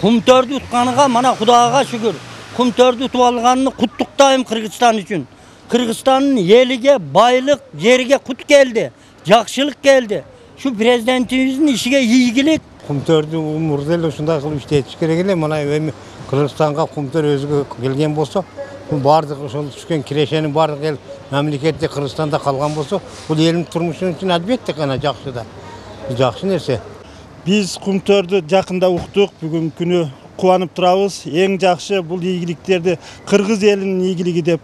Кумтөрдү утканга мана Кудайга шүгүр. Кумтөрдү утуп алганын куттуктайм Кыргызстан үчүн. Кыргызстандын элиге байлык, жерге кут келди, жакшылык келди. Şu президентибиздин ишиге ийгилик. Кумтөрдү умурда эле ушундай кылып иштетиш керек эле. Мына эми Кыргызстанга Кумтөр өзүгө келген болсо, бул бардык ошол түшкөн кирешенин бардык эл мамлекетте Кыргызстанда калган болсо, бул элдин турмушу үчүн албетте гана жакшы да. Жакшы нерсе. Биз Кумтөрдү жакында уктук, бүгүнкү күнү кубанып турабыз. Эң жакшы бул ийгиликтерди кыргыз элинин ийгилиги деп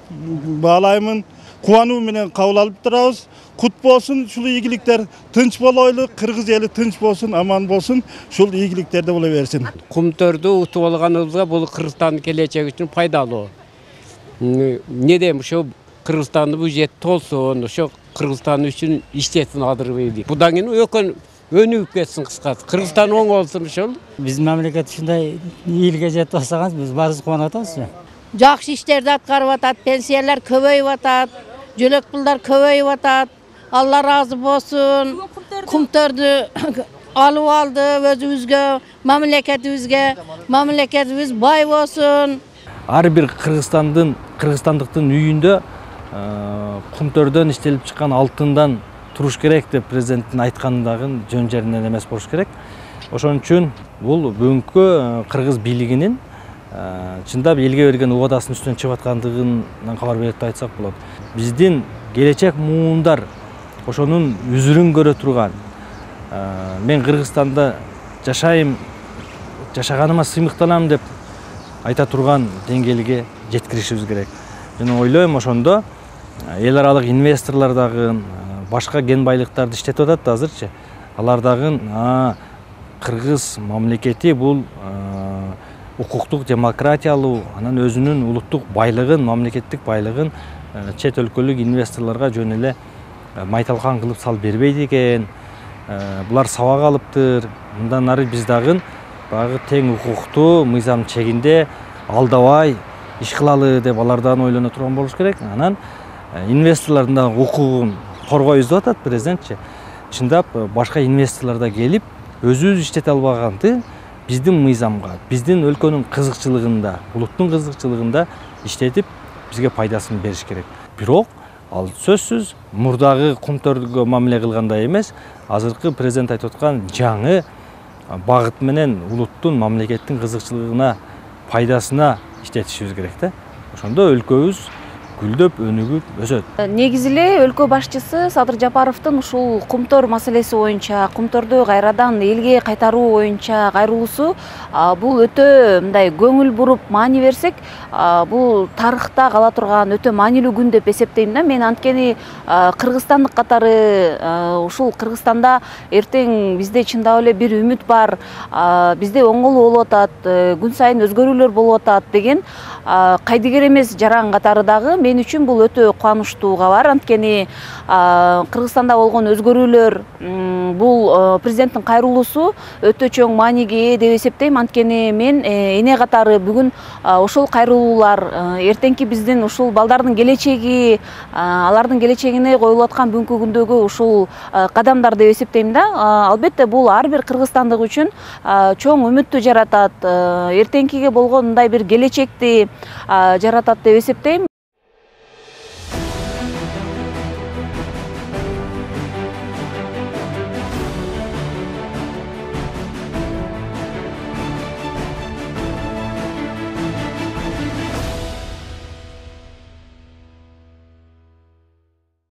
баалаймын. Кубануу менен кабыл алып турабыз. Кут болсун ушул ийгиликтер, тынч болойлу, кыргыз эли тынч болсун, аман болсун, ушул ийгиликтерде боло берсин. Кумтөрдү утуп алганыбызга бул Кыргызстандын келечеги үчүн пайдалуу. Недем ошо Кыргызстандын бюджети толсун, ошо Кыргызстан үчүн иштетин адырбейди. Будан кийин өнүгүп кетсин кыскасы. Кыргызстан оң болсун ошол. Биздин мамлекет ушундай ийгиликке жетип атсагыз, биз баарыбыз кубанып атабыз. Жакшы иштерди аткарып атат, пенсиялар көбөйүп атат, жөлөк пулдар көбөйүп атат. Алла разы болсун. Кумтөрдү алып алды өзүбүзгө, мамлекетибиз бай болсун. Ар бир кыргызстандыктын үйүндө Кумтөрдөн иштелип чыккан алтындан туруш керек деп президенттин айткандагы жөн жеринен эмес болуш керек. Ошон үчүн бул бүгүнкү кыргыз бийлигинин чындап элге берген убадасынын үстүнөн чыгып аткандыгынан кабар берет деп айтсак болот. Биздин келечек муундар ошонун үзүрүн көрө турган, мен Кыргызстанда жашайм, жашаганыма сыймыктанам деп айта турган деңгээлге жеткиришибиз керек. Мен ойлойм ошондо эл аралык инвесторлор дагы башка кен байлыктарды иштетип атат да азырчы. Алар дагы кыргыз мамлекети бул укуктук демократиялуу, анан өзүнүн улуттук байлыгын, мамлекеттик байлыгын чет өлкөлүк инвесторлорго жөн эле майталкан кылып салып бербейт экен. Булар сабак алыптыр. Мындан нары биз дагы багы тең укуктуу, мыйзам чегинде алдабай иш кылалы деп алардан ойлоно турган болуш керек. Анан инвесторлордун да укугун коргойбуз деп атат президентчи. Чындап башка инвесторлор да келип, өзүбүз иштете албаганды биздин мыйзамга, биздин өлкөнүн кызыкчылыгында, улуттун кызыкчылыгында иштетип, бизге пайдасын бериш керек. Бирок ал сөзсүз мурдагы Кумтөргө мамиле кылгандай эмес, азыркы президент айтып аткан жаңы багыт менен улуттун, мамлекеттин кызыкчылыгына, пайдасына иштетишибиз керек да. Ошондо өлкөбүз гүлдөп, өнүгүп өсөт. Негизи эле өлкө башчысы Садыр Жапаровдун ушул Кумтөр маселеси боюнча, Кумтөрдү кайрадан элге кайтаруу боюнча кайрылуусу бул өтө мындай көңүл буруп маани берсек, бул тарыхта кала турган өтө маанилүү күн деп эсептейм да. Мен анткени кыргызстандык катары ушул Кыргызстанда эртең бизде чындап эле бир үмүт бар, бизде оңолуу болуп атат, күн сайын өзгөрүүлөр болуп атат деген кайдыгер эмес жаран катары дагы мен үчүн бул өтө кубанычтуу кабар. Анткени Кыргызстанда болгон өзгөрүүлөр, бул президенттин кайрылуусу өтө чоң мааниге ээ деп эсептейм. Анткени мен эне катары бүгүн ошол кайрылуулар эртеңки биздин ушул балдардын келечеги, алардын келечегине коюлуп аткан бүгүнкү күндөгү ушул кадамдар деп эсептейм да. Албетте бул ар бир кыргызстандык үчүн чоң үмүттү жаратат, эртеңкиге болгон мындай бир келечекти жаратат деп эсептейм.